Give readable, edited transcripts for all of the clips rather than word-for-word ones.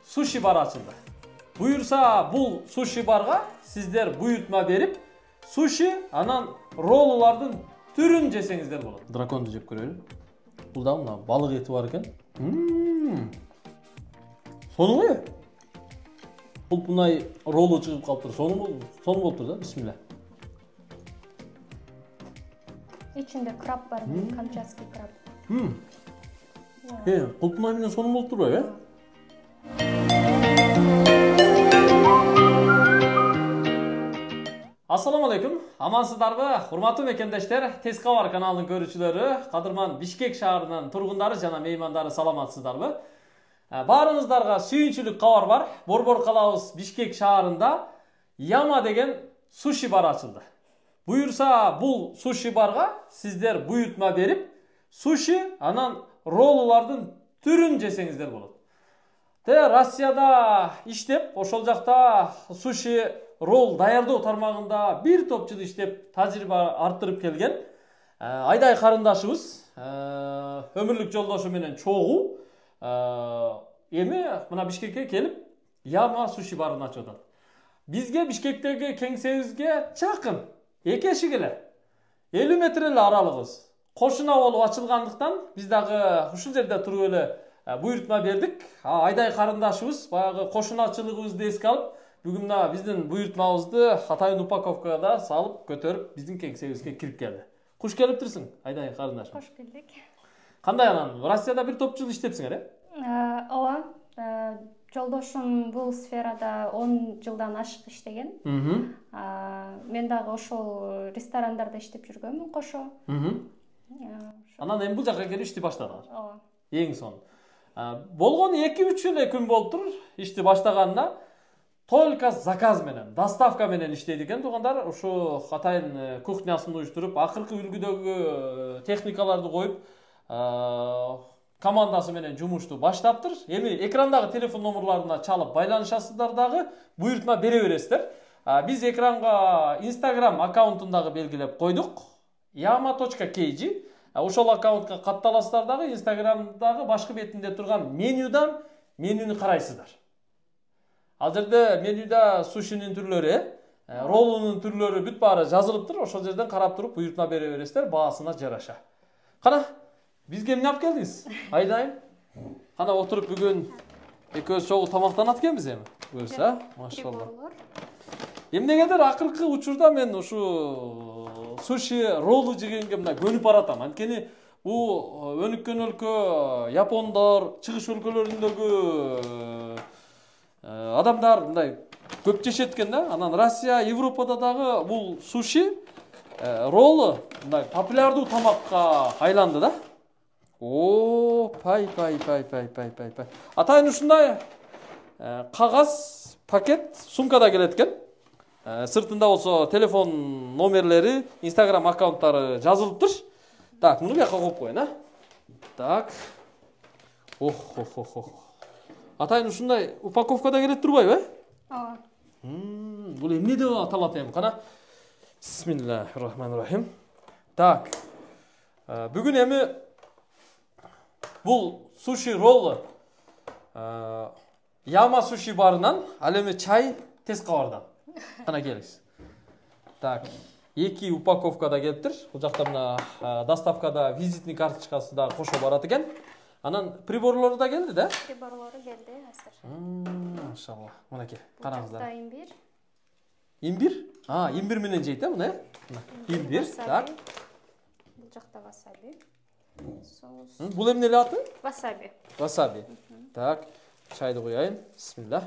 суши бар ачылды. Буюрса бул суши барга сиздер буйртма берип, суши анан роллулардын түрүн жесеңиздер болот. Драконду жеп көрөлү. Бул да мына балык эти бар экен. Сону кой. Бул мындай роллу чыгып калыптыр. Сону болуптур да. Бисмилла. İçinde krab var, kamчатский krab. Кулпунай менен сону болуп турбайбы, Ассаламу алейкум. Амансыздарбы? Урматтуу мекендештер, Тез кабар каналынын көрүүчүлөрү, кадырман Бишкек шаарынын тургундары жана меймандары саламатсыздарбы? Баарыңыздарга сүйүнчүлүк кабар бар. Борбор калабыз Бишкек шаарында Яма деген суши бар ачылды. Буюрса бул суши барга сиздер буйртма берип, суши анан роллулардын түрүн жесеңиздер болот. Россияда иштеп, ошол жакта суши ролл даярдоо тармагында бир топ жыл иштеп, тажрыйба арттырып келген Айдай карындашыбыз, өмүрлүк жолдошу менен чогуу эми мына Бишкекке келип, Яма суши барын ачып атат. Бизге Бишкектеги кеңсебизге чакын, эки эшик эле, 50 метр эле аралыгыбыз. Кошуна болуп ачылгандыктан биз дагы ушул жерде туруп эле буйртма бердик. Айдай карындашыбыз баягы кошуначылыгыбызды эске алып, бүгүн мына биздин буйртмабызды атайын упаковкада салып, көтөрүп биздин кеңсебизге кирип келди. Куш келиптирсиң, Айдай карындашым? Кош келдик. Кандай анан? Россияда бир топ жыл иштепсиңер, Ооба. Жолдошум бул сферада 10 жылдан ашык иштеген. Мен дагы ошол ресторандарда иштеп жүргөмүн кошо. Анан эми бул жака келип ишти баштадыңар. Ооба. Эң сон. Болгону 2-3 эле күн болуптур ишти баштаганына. Только заказ менен, доставка менен иштейт экен туугандар. Ушу атайын кухнясын уюштуруп, акыркы үлгүдөгү техникаларды коюп, командасы менен жумушту баштаптыр. Эми экрандагы телефон номерларына чалып байланышасыздар дагы, буйртма бере бересиздер. Биз экранга Instagram аккаунтун дагы белгилеп койдук. yama.kg. Ошол аккаунтка катталасыздар дагы, Instagramдагы башкы бетинде турган менюдан менюнү карайсыздар. Ал жерде менюда сушинин түрлөрү, роллунун түрлөрү бүт баары жазылыптыр. Ошол жерден карап туруп буйртма бере бересиздер баасына жараша. Кана, бизге эмне алып келдиңиз? Айдайым. Кана отуруп бүгүн экөөбүз чогуу тамактанат экенбиз эми. Буюрса, машалла. Эмнегедир акыркы учурда мен ушу суши роллу жегенге мына көнүп баратам. Анткени бул өнүккөн өлкө, япондор, чыгыш өлкөлөрүндөгү адамдар мындай көп жешет экен да. Анан Россия, Европада дагы бул суши роллу мындай популярдуу тамакка айланды да. Пай. Атайын ушундай кагаз, пакет, сумкада келет экен. Сыртында болсо телефон номерлери, Instagram аккаунттары жазылыптыр. Так, муну бияка коюп коеюн, Так. Атайын ушундай упаковкада келет турбайбы, Ооба. Бул эмне деп аталат эми? Кана. Бисмиллахир-рахманир-рахим. Так. Бүгүн эми бул суши роллу Яма суши барынан, ал эми чай Тез кабардан. Кана келиңиз. Так, 2 упаковкада келиптир. Бул жакта мына доставкада визитный карточкасы да кошо барат экен. Анан приборлору да келди да? Приборлору келди азыр. Машалла. Мынакей, караңыздар. Имбир. Имбир? Имбир менен жейт, мына. Имбир, так. Бул жакта васаби. Соус. Бул эмне эле аты? Васаби. Васаби. Так, чайды кояйын. Бисмилlah.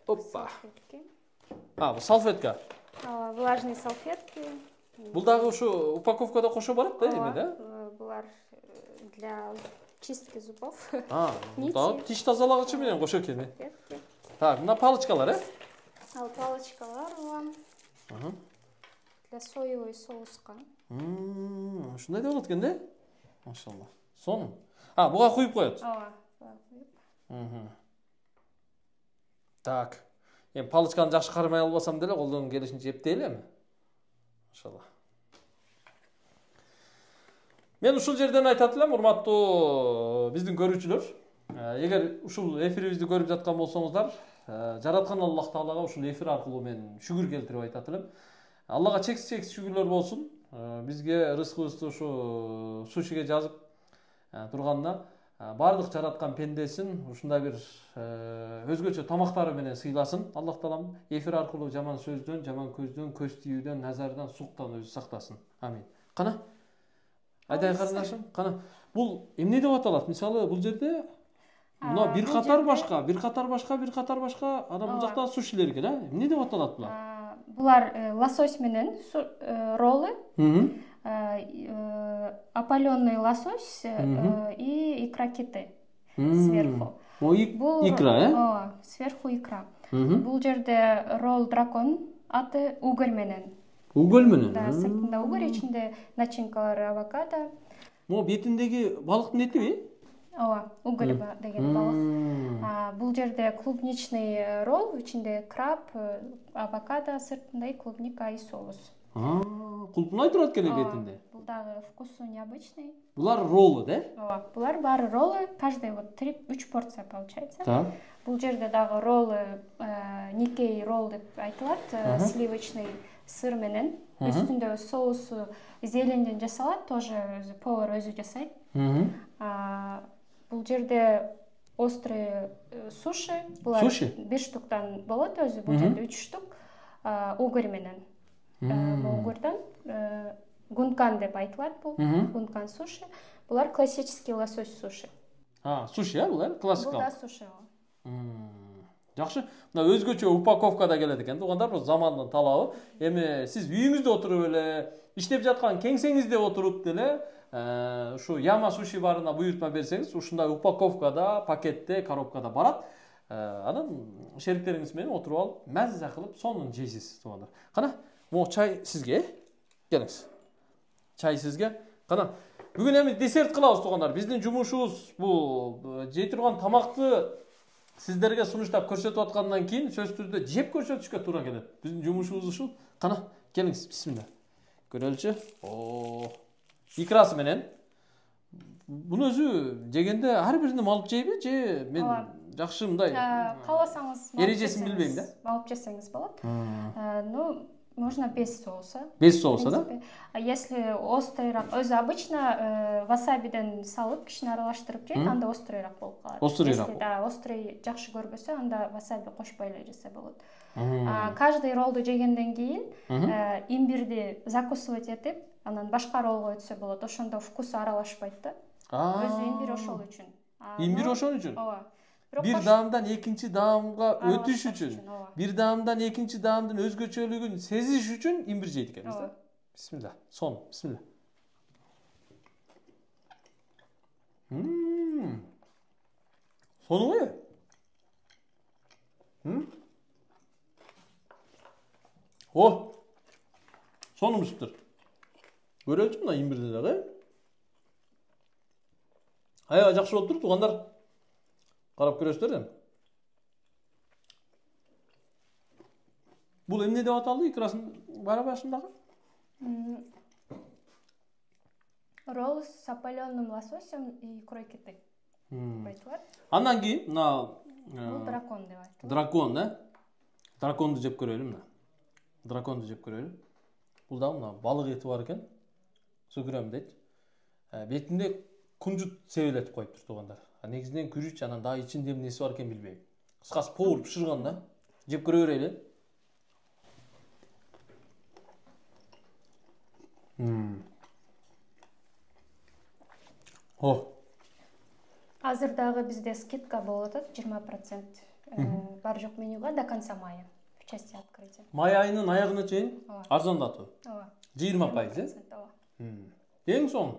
Опа. Бул салфетка. Влажные салфетки. Бул дагы ушу упаковкада кошо барат да, эми да? Булар для чистки зубов. Да, тиш тазалагычы менен кошо экен. Так, мына палочкалар, Ал палочкалар для соевый соуска. Ушундай да болот экен да? Машалла. Сон. Буга куюп коет. Ооба. Так. Эми палочканы жакшы кармай албасам деле, колдон келишинче эптейли эми. Машалла. Мен ушул жерден айтат элем, урматтуу биздин көрүүчүлөр. Эгер ушул эфирибизди көрүп жаткан болсоңуздар, жараткан Аллах Таалага ушул эфир аркылуу мен шүгүр келтирип айтат элем. Аллага чексиз шүгүрлөр болсун. Бизге рызкыбызды ушу сушиге жазып турганына, бардык жараткан пендесин ушундай бир өзгөчө тамактары менен сыйласын. Аллах Таалам эфир аркылуу жаман сөздөн, жаман көздөн, көз тийүүдөн, назардан, суктан өзү сактасын. Амин. Кана? Айдай карындашым, кана. Бул эмне деп аталат? Мисалы, бул жерде мына бир катар башка, анан бул жакта сушилер экен, эмне деп аталат булар? Булар лосось менен роллы, опаленный лосось и икра киты сверху. Икра, сверху икра. Бул жерде ролл дракон аты уголь менен. Уголь менен? Да, сыртында уголь, ичинде начинкалары авокадо. Могу бетиндеги балыктын этиби? Ооба, уголь деген балык. Бул жерде клубничный ролл, ичинде краб, авокадо, сыртында и клубника и соус. Кулпунай турат экен бетинде. Бул дагы вкусу необычный. Булар роллы, да? Ооба, булар баары роллы, каждый вот 3 порция получается. Так. Бул жерде дагы роллы, Никей ролл деп айтылат, сливочный сыр менен. Үстүндө соусу зеленден жасалат, тоже повар өзү жасайт. Бул жерде острый суши, булар 1 штуктан болот өзү, бул жерде 3 штук уголь менен. Угордан гункан деп айтылат бул, гункан суши. Булар классический лосось суши. Суши, булар классикалык. Бул да суши. Жакшы. Мына өзгөчө упаковкада келет экен. Тугандар, бул замандын талабы. Эми сиз үйүңүздө отуруп эле, иштеп жаткан кеңсеңизде отуруп деле ушу Яма суши барына буйртма берсеңиз, ушундай упаковкада, пакетте, коробкада барат. Анан шериктериңиз менен отуруп алып, маза кылып, сонун жейсиз, тугандар. Кана, могу чай сизге. Келиңиз. Чай сизге. Кана, бүгүн эми десерт кылабыз, тугандар. Биздин жумушубуз бул жей турган тамакты сиздерге сунуштап көрсөтүп аткандан кийин сөзсүз түрдө жеп көрсөтүшкө туура келет. Биздин жумушубуз ушул. Кана, келиңиз, бисмилла. Көрөлүчү. Икрасы менен. Буну өзү жегенде ар биринен алып жейби, же мен жакшы мындай кааласаңыз эрежесин билбейм да. Алып жесеңиз болот. Ну, можно без соуса. Без соуса, да? Если острыйраак, өзү обычно васабиден салып, кичине аралаштырып жейт, анда острыйраак болуп калат. Острыйраак. Если да, острый жакшы көрбөсө, анда васаби кошпой эле жесе болот. Каждый роллду жегенден кийин имбирди закусывать этип, анан башка роллго өтсө болот. Ошондо вкусу аралашпайт да. Өзү имбир ошол үчүн. Имбир ошон үчүн? Ооба. Бир даамдан экинчи даамга өтүш үчүн, бир даамдан экинчи даамдын өзгөчөлүгүн сезиш үчүн имбир жейт экенбиз да. Бисмилла. Сон, бисмилла. Сонуңбу? Сонумсуптур. Көрөлчү мына имбирди дагы. Аябай жакшы болуптур, тугандар. Карап көрөсүздөр да. Бул эмне деп аталды икрасын бара башындагы? Ролл с опалённым лососем и икрой киты. Айтылат. Андан кийин мына бул дракон деп айтылат. Дракон, да? Драконду жеп көрөлү мына. Драконду жеп көрөлү. Бул да мына балык эти бар экен. Сүгүрөм дейт. Бетинде кунжут себелетип коюптур, тугандар. Негизинен күрүч, анан дагы ичинде эмнеси бар экен билбейм. Кыскасы повар бышырган да. Жеп көрө берели. Азыр дагы бизде скидка болуп атат, 20% бар жок менюга до конца мая в части открытия. Май айынын аягына чейин арзандатуу. Ооба. 20%, эң соң.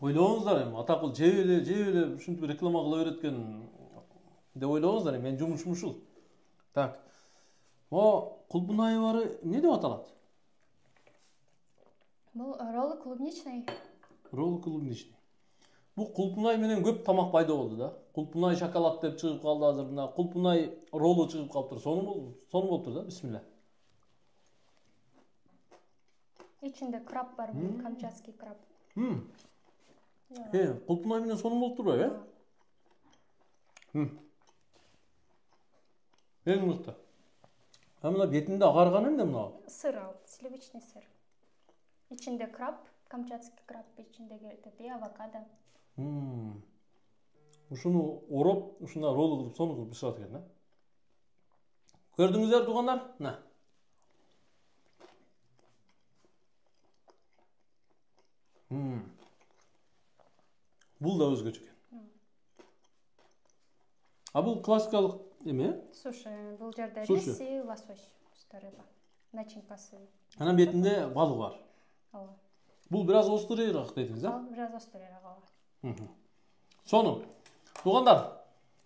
Ойлооңуздар эми атакул жеп эле ушинтип реклама кыла береткен деп ойлооңуздар, мен жумушум ушул. Так. О, кулпунай бары эмне деп аталат? Бул роллы клубничный. Роллы клубничный. Бул кулпунай менен көп тамак пайда болду да. Кулпунай шоколад деп чыгып калды азыр, мына кулпунай роллу чыгып калыптыр. Сону болуптур да, бисмилла. ичинде краб бар, камчатский краб. Кулпунай менен сонун болуп турбайбы, Эң мыкты. Мына бетинде агарган эмне мына? Сыр ал, сливочный сыр. Ичинде краб, камчатский краб, ичиндеги и авокадо. Ушуну ороп, ушунда ролл кылып, сону кылып бышырат экен, да? Көрдүңүздөр туугандар? Мына. Бул да өзгөчө экен. А бул классикалык эме? Суши. Бул жерде рис и лосось, рыба. Начинкасы. Анан бетинде балык бар. Ооба. Бул бир аз острыйраак дедиңиз, а? Бир аз острыйраак, ооба. Сонун. Туугандар,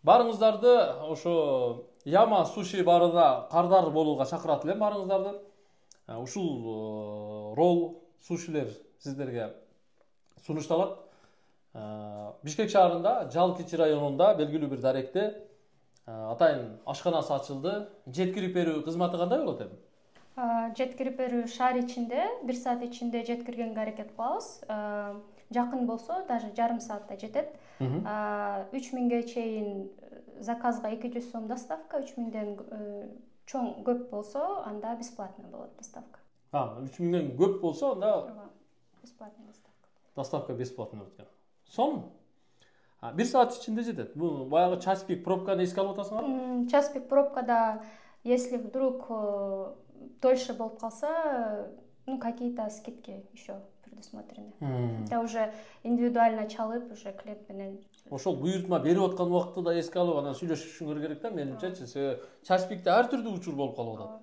барыңыздарды ошо Яма суши барына кардар болууга чакырат элем барыңыздарды. Ушул ролл, сушилер сиздерге сунушталат. Бишкек шаарында, Жалкичи районунда белгилүү бир даректе атайын ашканасы ачылды. Жеткирип берүү кызматы кандай болот эми? Жеткирип берүү шаар ичинде 1 саат ичинде жеткиргенге аракет кылабыз. Жакын болсо даже жарым саатта жетет. 3000ге чейин заказга 200 сом доставка, 3000ден чоң көп болсо анда бесплатный болот доставка. 3000ден көп болсо анда бесплатный доставка. Доставка бесплатный болот экен. Сом 1 саат ичинде жетет. Бул баягы час пик пробканы эске алып атасыңарбы? Час пик пробкада если вдруг дольше болуп калса, какие-то скидки еще предусмотрены. Это уже индивидуально чалып, уже клиент менен. Ошол буйртма берип аткан убакытты да эске алып, анан сүйлөшүшүңөр керек да, менимче. Час пикте ар түрдүү учур болуп калып атат.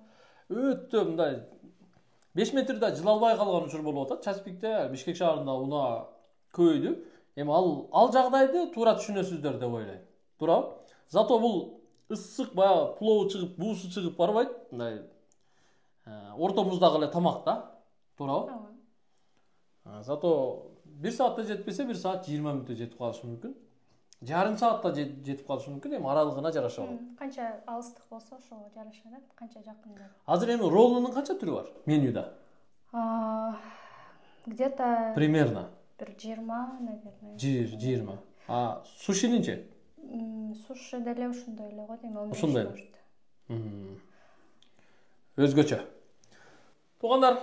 Өтө мындай 5 метрде жыла албай калган учур болуп атат. Час пикте Бишкек шаарында унаа көбөйдү. Эми ал жагдайды туура түшүнөсүздөр деп ойлойм. Туурабы? Зато бул ысык баягы плов чыгып, буусу чыгып барбайт. Мындай орто муздагы эле тамак да. Туурабы? Зато 1 саатта жетпесе 1 саат 20 мүнөттө жетип калышы мүмкүн. Жарым саатта жетип калышы мүмкүн. Эми аралыгына жараша болот. Канча алыстык болсо ошого жараша да, канча жакында. Азыр эми роллунун канча түрү бар менюда? Где-то примерно 20, наверное. 20. Сушининчи? Суши деле ушундай эле го дейм. Ушундай. Өзгөчө. Туугандар,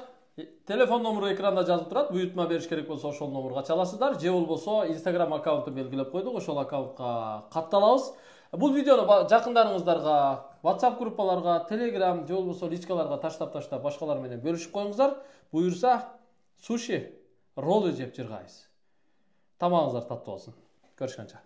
телефон номеру экранда жазылып турат. Буйртма бериш керек болсо ошол номерге чаласыздар. Же болбосо Instagram аккаунтун белгилеп койдук, ошол аккаунтка катталабыз. Бул видеону жакындарыңыздарга, WhatsApp группаларга, Telegram же болбосо личкаларга таштап башкалар менен бөлүшүп коюңуздар. Буюрса, суши, роллы жеп жыргайбыз. Тамагыңыздар таттуу болсун. Көрүшкөнчө.